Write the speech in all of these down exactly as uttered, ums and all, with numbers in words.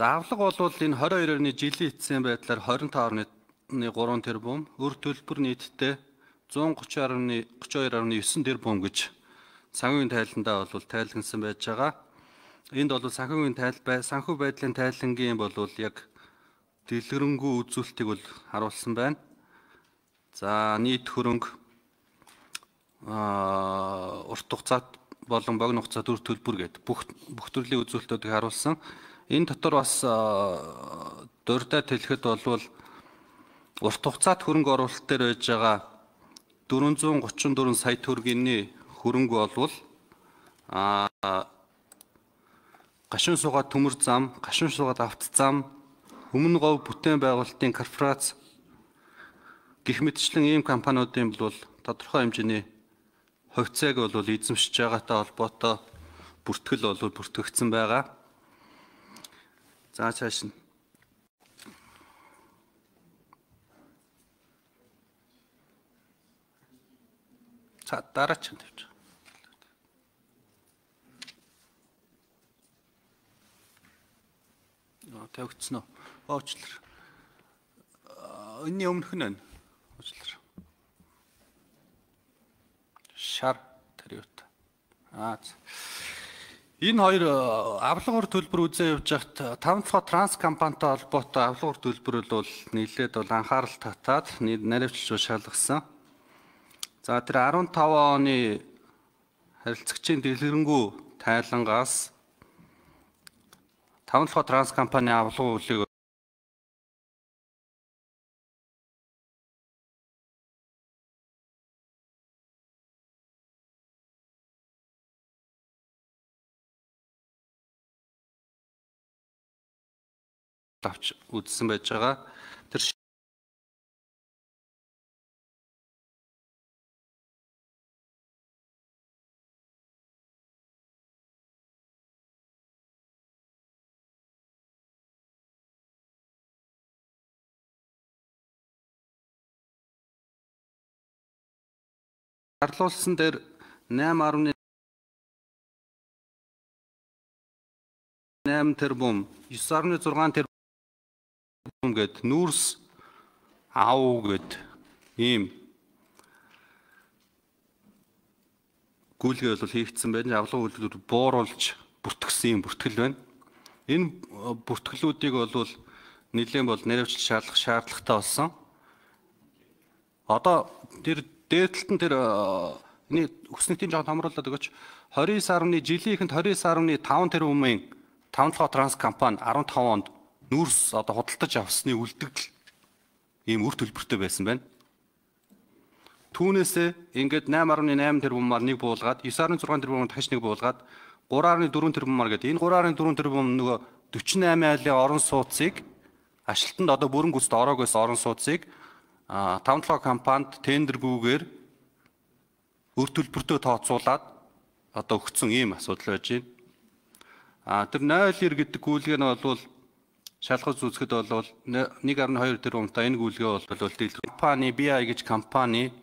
За авлага бол энэ двадцать two оны жилийн эцсийн байдлаар twenty-five point three тэрбум, өр төлбөр нийтдээ one thirty thirty-two point nine тэрбум гэж санхүүгийн тайландаа бол тайлгнасан байж байгаа. Энд бол санхүүгийн тайл бай санхүү байдлын тайлангийн бол яг дэлгэрэнгүй үзүүлэлтийг бол харуулсан байна. За нийт хөрөнгө аа урт хугацаат болон богино хугацаат өр төлбөр гэдэг бүх бүх төрлийн үзүүлэлтүүдийг харуулсан. Энэ дотор бас дурдаад хэлэхэд бол урт хугацаат хөрөнгө оруулалт дээр байж байгаа four thirty-four сая төгрөгийн хөрөнгө болвол а гашуун суугаад төмөр зам, гашуун суугаад авто зам, өмнө говь бүтээн байгуулалтын корпорац гэх мэтчлэн ийм компаниудын бол тодорхой хэмжээний хувьцааг бол эзэмшиж байгаатай холбоотой бүртгэл бол бүртгэгдсэн байгаа. За цааш нь. За дараач нь тавьж. Аа тавигдсан уу? Оочлоо. Энэний өмнөх нь байна. Оочлоо. Шар тариут. Аа. Энэ хоёр авлагаар төлбөр үзээ явж хахад five дахь транс компанитай холбоотой авлагаар төлбөр бол нийлээд бол анхаарал татаад наривчлж шалгасан. За тэр fifteen оны харилцагчийн дэлгэрэнгүй тайлангаас five дахь транс компани авлагын үлийг авч үзсэн байж байгаа. Тэр шаардлагуулсан дээр eight point nine тэрбум, nine point six тэрбум гэд нүүрс аав гэд ийм гүйлгээ бол хийгдсэн байна. Авлага үйлдвэр бууруулж бүртгэсэн юм бүртгэл байна. Энэ бүртгэлүүдийг бол нэлээд бол наривчлж шаардах шаардлагатай болсон. Одоо тэр дээдлэлт нь тэр энэ өснөтийн жоо томруулаад өгөөч. twenty-nine сарны жилийнхэнд twenty-nine point five тэрбумын five дахь транс компани fifteen онд нүүрс одоо худалдаж авсны үлдэгдэл ийм үр төлбөртэй байсан байна. Түүнээсээ ингээд eight point nine тэрбумаар нэг буулгаад nine point six тэрбумаар дахиж нэг буулгаад three point four тэрбумаар гэдэг энэ three point four тэрбум нөгөө forty-eight айлын орон сууцыг ажилтнанд одоо бүрэн гүйцэд ороогоос орон сууцыг five дахь компанид тендергүйгээр үр төлбөртөө тооцоолаад одоо өгсөн ийм асуудал байж байна. А тэр nine point nine гэдэг гүйлгээ нь бол шалгаж үзэхэд бол one point two тэрбумтай энэ гүйлгээ бол дэлгэр компани би ай гэж компани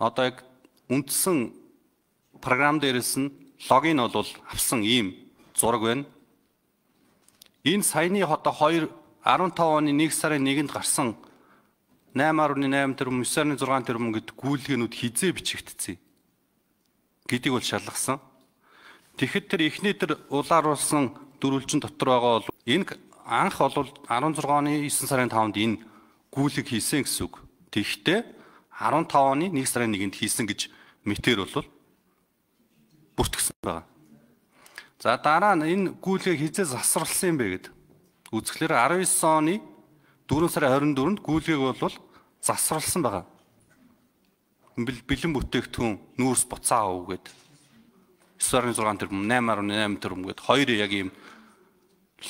одоо яг үндсэн програм дээрээс нь логин бол авсан ийм зураг байна. Энэ саяны одоо two fifteen оны one сарын нэгнд гарсан eight point nine тэрбум, nine point six тэрбум гэдэг гүйлгээнүүд хизээ бичигдсэн гэдгийг бол шалгасан. Тэгэхэд тэр эхний тэр улааруулсан дөрвөлжин дотор байгаа бол энэ анх бол sixteen оны nine сарын five-нд энэ гүйлэг хийсэн гэсэн үг. Тэгэхдээ fifteen оны one сарын нэгнд хийсэн гэж мэтэр бол бүртгэсэн байгаа. За дараа нь энэ гүйлгээ хизээ засварлсан юм бэ гэд үзэхлээр nineteen оны four сарын twenty-fourнд гүйлгээг бол засварлсан байгаа. Бэлэн бүтээгдэхүүн нүүрс буцаа ав гэд nine point six тэрбум, eight point nine тэрбум гэд хоёр яг ийм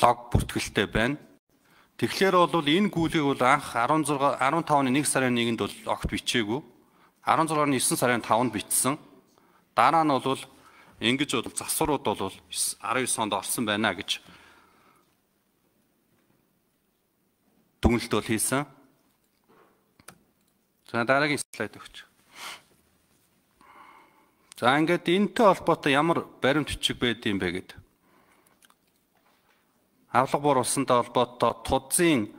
лог бүртгэлтэй байна. Тэгэхээр бол энэ гүйлгийг бол анх fifteen оны one сарын нэгнд бол огт бичээгүй. sixteen оны nine сарын five-нд бичсэн. Дараа нь бол ингэж бол засварууд бол nineteen онд орсон байна гэж дүгнэлт бол хийсэн. За дараагийн слайд өгч. За ингээд энэтэй холбоотой ямар баримт бичиг байд юм бэ гэд. авлага буур усантай холбоотой тудзын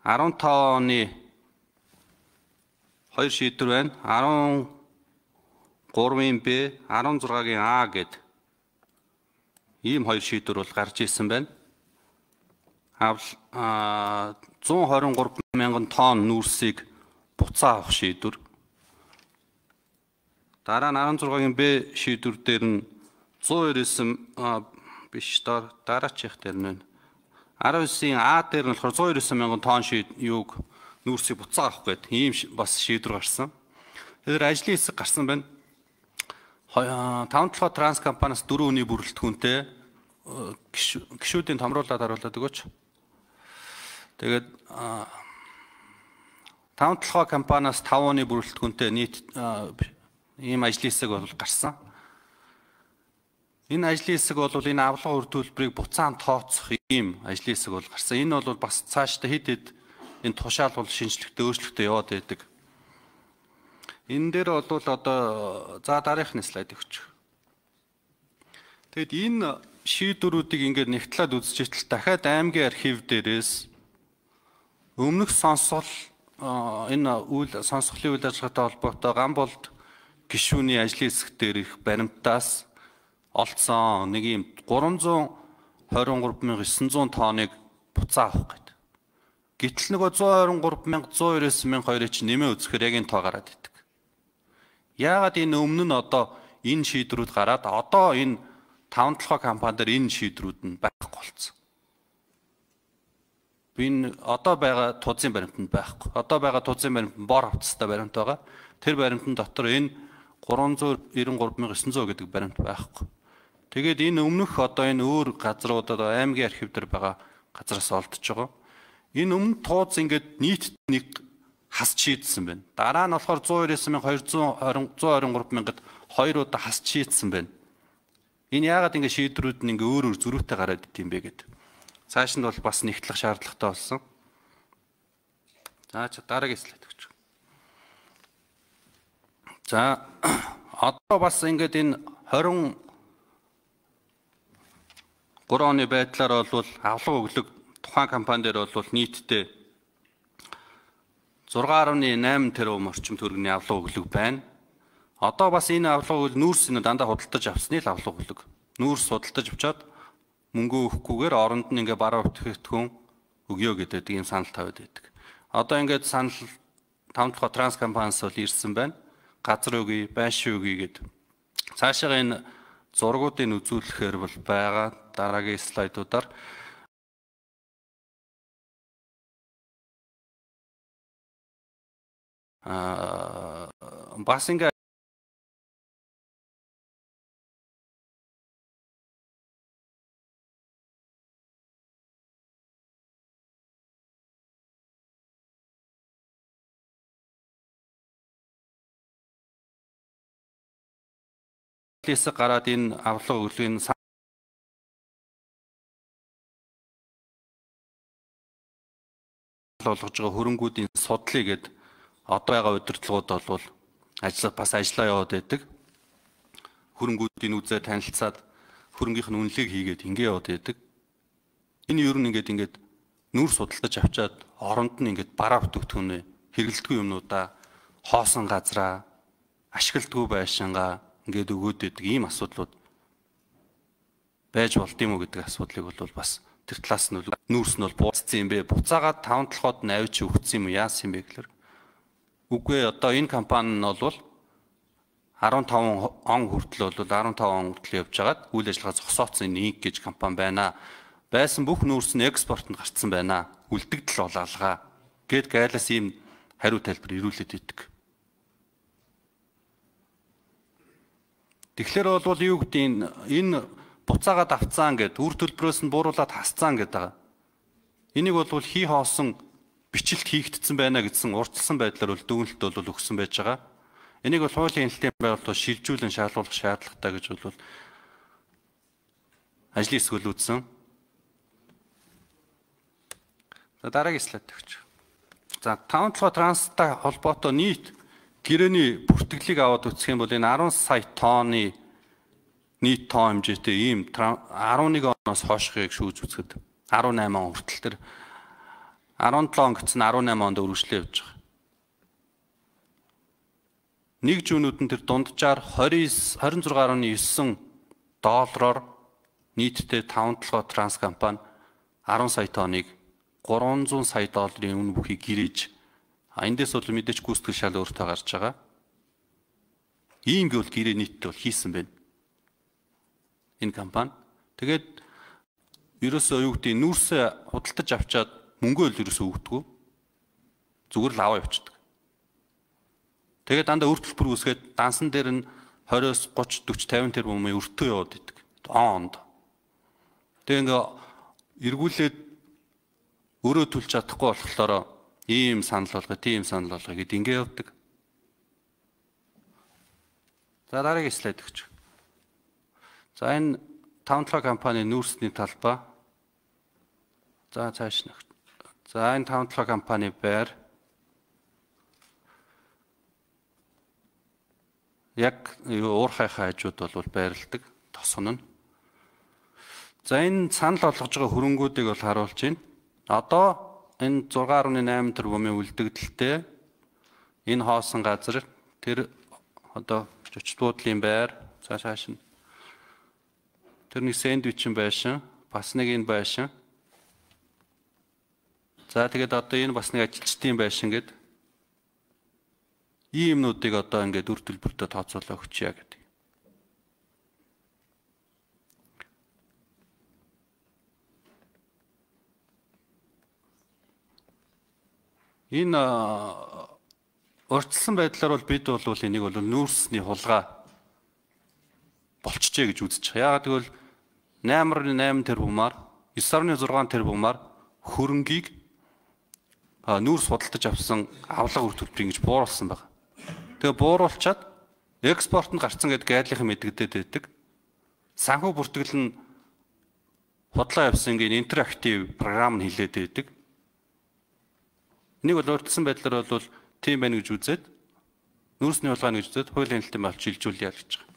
арван таван оны хоёр шийдвэр байна. арван гурвын Б, арван зургагийн А гэд ийм хоёр шийдвэр бол гарч ирсэн байна. зуун хорин гурав мянган тонн нүүрсийг буцаа авах шийдвэр. Дараа нь арван зургагийн Б шийдвэр дээр нь зуун ирсэн биш дараачих дээр нь арван девятын А дээр нь болохоор зуун ирсэн мянган тонн шийд юуг нүүрсийг буцаа авах гэдэг ийм бас шийдвэр гарсан. Тэгэхээр ажлын хэсэг гарсан байна. таван толгой транс компаниас дөрвөн өний бүрэлдэхүүнтэй гишүүдийн томруулаад харуулдаг өгөөч. Тэгээд таван толгой компаниас таван өний бүрэлдэхүүнтэй нийт ийм ажлын хэсэг бол гарсан. Энэ ажлын хэсэг бол энэ авлага үр төлбөрийг буцаан тооцох ийм ажлын хэсэг бол гарсан. Энэ бол бас цаашдаа хэд хэд энэ тушаал бол шинжлэхтэй өөрчлөлттэй яваад байдаг. Энэ дээр бол одоо за дараагийн слайд өгч. Тэгэд энэ шийдвэрүүдийг ингээд нэгтлээд үзчихтэл дахиад аймгийн архив дээрээс өмнөх сонсгол энэ үйл сонсголын үйл ажиллагаатай холбоотой Гамболд гишүүний ажлын хэсэг дээр их баримтаас олцсон нэг юм гурван зуун хорин гурав мянган есөн зуун тонныг буцаа авах гэдэг. Гэтэл нөгөө зуун хорин гурав мянган зуун ирсэн мянган хоёрыг чи нэмээ үзэхээр яг энэ тоо гараад идэг. Яагаад энэ өмнө нь одоо энэ шийдвэрүүд гараад одоо энэ таван толгой компани дээр энэ шийдвэрүүд нь байхгүй болсон. Энэ одоо байгаа тузын баримтанд байхгүй. Одоо байгаа тузын баримт нь бор хавцастай баримт байгаа. Тэр баримтын дотор энэ гурван зуун ирсэн гурав мянган есөн зуун гэдэг баримт байхгүй. Тэгээд энэ өмнөх одоо энэ өөр газрууд одоо аймгийн архив дээр байгаа газраас олдож байгаа. Энэ өмнө тууз ингээд нийт нэг хасч шийдсэн байна. Дараа нь болохоор зуун ирсэн мянган хоёрзуун хорин гурав мянгад хоёр удаа хасч шийдсэн байна. Энэ яагаад ингэ шийдвэрүүд нь ингээ өөр өөр зөрүүтэй гараад идэм бэ гэдэг. Цааш нь бол бас нэгтлэх шаардлагатай болсон. За дараагийн слайд өгч. За одоо бас ингээд энэ хорин гурав оны байдлаар бол авлага өглөг тухайн компани дээр бол нийтдээ зургаан гаруй найман тэрбум орчим төгрөгийн авлага өглөг байна. Одоо бас энэ авлага өглөг нүүрс нь дандаа худалдаж авсны л авлага өглөг. Нүүрс худалдаж авчаад мөнгө өгөхгүйгээр оронд нь ингээ бараа бүтээгдэхүүн өгөө гэдэг ийм санал тавиад байдаг. Одоо ингээд санал таван толгой транс компаниас бол ирсэн байна. Газар өгье, байшин өгье гэдэг. Цаашаа энэ зургуудыг үзүүлэхээр бол байгаа дараагийн слайдуудаар аа бас ингээ хэсэг гараад энэ авлага өглөгийн болгож байгаа хөрөнгүүдийн судлыг гээд одоо байгаа удирдлагууд бол ажил бас ажиллаа яваад байдаг. Хөрөнгүүдийн үзээ танилцаад хөрөнгөхийн үнэлгээг хийгээд ингэ яваад байдаг. Энэ ер нь ингээд ингээд нүүр судалдаж авчаад оронд нь ингээд бараа бүтээгдэхүүнээ хэрэглэдэггүй юмнуудаа хоосон газраа ашигладгүй байшингаа ингээд өгөөд байдаг ийм асуудлууд байж болд юм уу гэдэг асуудлыг бол бас тэр талаас нь нүүрс нь бол бууцсан юм бэ. Буцаагаад таван толгойд нь авч өгсөн юм яасан юм бэ гэхээр үгүй одоо энэ компани нь бол арван таван он хүртэл бол арван таван он хүртэл явж байгаад үйл ажиллагаа зогсооцсон нэг гэж компани байна. Байсан бүх нүүрс нь экспортод гарцсан байна. Үлдэгдэл болоолгаа гэд гайлаас ийм хариу тайлбар ирүүлээд идэг. Тэгэхээр бол юу гэдэг энэ буцаагаад авцаан гэд үр төлбөрөөс нь бууруулаад хасцаан гэдэг байгаа. Энийг бол хий хоосон бичлэлт хийгдсэн байна гэсэн урдчилсан байдлаар бол дүгнэлт бол өгсөн байж байгаа. Энийг бол хуулийн хяналтын байгууллагууд шилжүүлэн шаардлагах шаардлагатай гэж бол ажлын хэсэг үзсэн. За дараагийн слайд өгч. За таван толгой транстай холбоотой нийт гэрээний бүртгэлийг аваад үзэх юм бол энэ арван сая тонны нийт тоо хэмжээтэй ийм арван нэг оноос хойшхыг шүүж үзэхэд арван найман он хүртэл тэр арван долоо он гэсэн арван найман онд үргэлжлээ явж байгаа. Нэг жүүнүүд нь тэр дунджаар двадцать двадцать шесть гаруй девять доллараар нийтдээ таван толгой транс компани арван сая тонныг гурван зуун сая долларын үнэ бүхий гэрээж эндээс бол мэдээж гүйцэтгэл шал өөртөө гарч байгаа. Ийм гэвэл гэрээ нийтдээ бол хийсэн байна. Энэ компани. Тэгээд ерөөсөө юу гэдэг нүүрсээ худалдаж авчаад мөнгөө л ерөөсөө өгдөггүй. Зүгээр л аваа явчихдаг. Тэгээд дандаа үр төлбөр үүсгээд дансан дээр нь двадцать, тридцать, forty, fifty тэрбумын өртөө яваад идэг. Онд. Тэгээд ингээ эргүүлээд өөрөө төлж чадахгүй болохоор ийм санал болгоо, тийм санал болгоо гэд ингээ явдаг. За дараагийн слайд өгч. За энэ таван толгой компани нүүрсний талбай. За цааш нэг. За энэ таван толгой компани байр. Яг уурхай хажууд бол байрладаг, тосгоно нь. За энэ санал болгож байгаа хөрөнгүүдийг бол харуулж байна. Одоо энэ six point eight тэрбумын үлдэгдэлтэй энэ хоосон газар тэр одоо зочд буудлын байр цаашааш нь тэр нэг сэндвичэн байшин, бас нэг энэ байшин. За тэгээд одоо энэ бас нэг ажилчдын байшин гэдэг ийм юмнуудыг одоо ингээд үр төлбөртөө тооцоолоо өгчье гэдэг. Энэ урьдчилсан байдлаар бол бид бол энийг бол нүүрсний хулгай болчихжээ гэж үзэж байгаа. Яагаад гэвэл найман тэрбумаар нine сix тэрбумаар хөрөнгийг нүүрс худалдаж авсан авлага үр төлбөр ингэж бууруулсан байна. Тэгээ бууруулчаад экспорт нь гарцсан гэдэг гайдлынхан мэдэгдээд байдаг. Санхүү бүртгэл нь худлаа явсангийн интерактив програм нь хилээд байдаг. Энийг бол урьдчилсан байдлаар бол тийм байна гэж үзээд нүүрсний хулгай гэж үзээд хуулийн хэлтэн болж шилжүүлээ гэж байгаа.